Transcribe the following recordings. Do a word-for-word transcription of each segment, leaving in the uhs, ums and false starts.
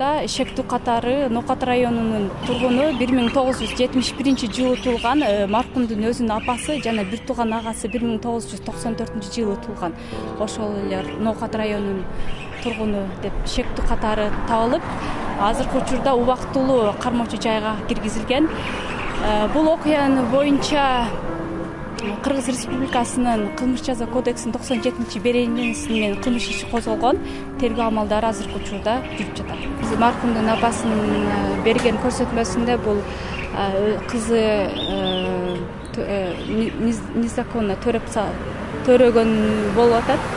Кочурда Шектүү катары Ноокат районунун тургуну бир миң тогуз жүз жетимиш биринчи жылы туулган, маркумдун өзүнүн апасы жана бир тууган агасы бир миң тогуз жүз токсон төртүнчү жылы туулган. Ошол эле Ноокат районунун тургуну деп Шектүү катары табылып, азыркы учурда убактылуу кармоочу жайга киргизилген. Бул окуянын боюнча Кыргыз Республикасынын Кылмыш жаза кодексинин токсон жетинчи беренеси менен кылмыш иши козголгон. Тергөө амалдары азыркы учурда жүрүп жатат. Маркумдун апасынын берген көрсөтмөсүндө бул кызы незаконно төрөгөн болуп атат.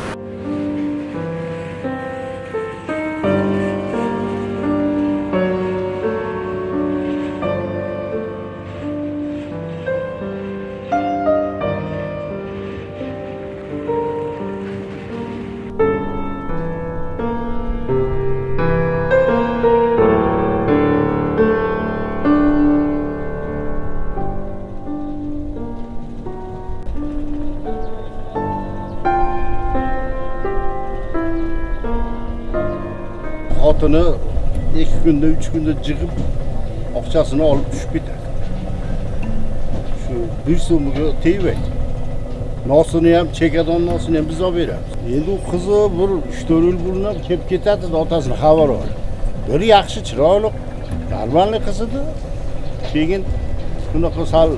Atını iki günde, üç günde çıkıp akçasını alıp düşüp biter. Şu bir so'mga teyip nasını hem çekeden nasını hem bize veririz. Endi o kızı bir üç dört yıl bulunab kelip ketadi da otasına haber var. Bir yaxshi chiroyli, normalniy qiz edi. Keyin bunaqa sal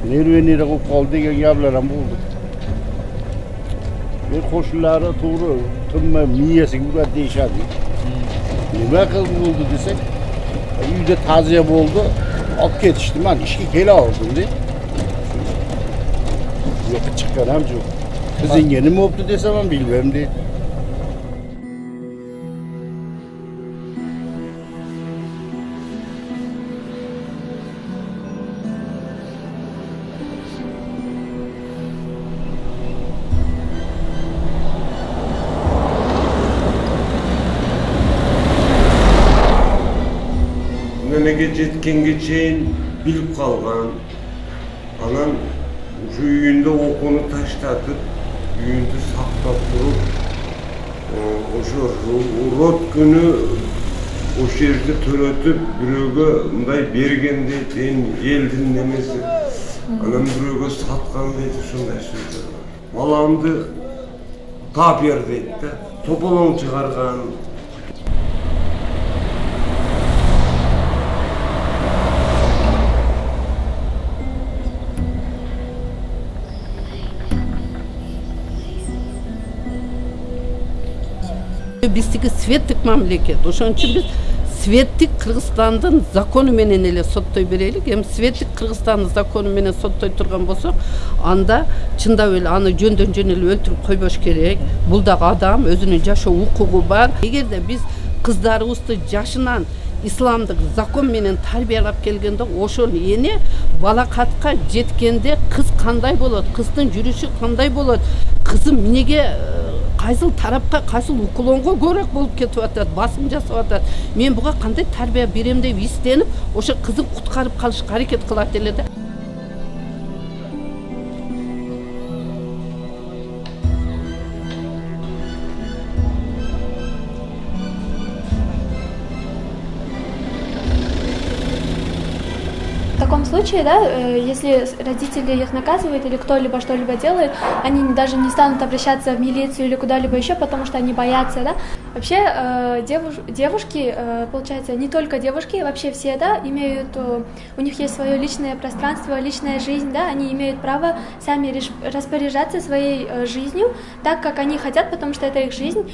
nervenira bo'lib qoldi degan gaplar ham bo'ldi. Men qo'shnilari to'g'ri tinmay miyasiga uradi deyishadi. Nima qilib bo'ldi desak, uyda ta'ziya bo'ldi, olib ketishdi. Men ishga kela oldim deb. Yo'q chiqqan ham yo'q. Qizingga nima bo'ldi desam ham bilmayman deydi. Memege жеткенге чейин билип калган. Анан ушу үйүндө окууну таштатып, үйүндү сактап туруп, ошо урот күнү ошол жерде төрөтүп, бирөөгө мындай берген дейт, элдин немеси. Анан бирөөгө саткан дейт, ушундай сөздөр бар. Баламды тап бер дейт да, тополоң чыгарган. Биздики светтик мамлекет. Ошон үчүн биз светтик Кыргызстандын закону менен эле соттой берелик. Эми светтик Кыргызстандын закону менен соттой турган болсок, анда чындап эле аны жөндөн жөн эле өлтүрүп койбош керек. Бул дагы адам, өзүнүн жашоо укугу бар. Эгерде биз кыздарыбызды жашынан исламдык закон менен тарбиялап келгенде, ошол эне балакатка жеткенде кыз кандай болот, кыздын жүрүшү кандай болот, кызым эмнеге кайсыл тарапка, кайсыл укулонго көбүрөөк болуп кетип атат, басым жасап атат. Мен буга кандай тарбия берем деп изденип, ошо кызын куткарып калышка аракет кылат эле да. В таком случае, да, если родители их наказывают или кто-либо что-либо делает, они даже не станут обращаться в милицию или куда-либо еще, потому что они боятся, да. Вообще девуш, девушки, получается, не только девушки, вообще все, да, имеют, у них есть свое личное пространство, личная жизнь, да, они имеют право сами распоряжаться своей жизнью так, как они хотят, потому что это их жизнь,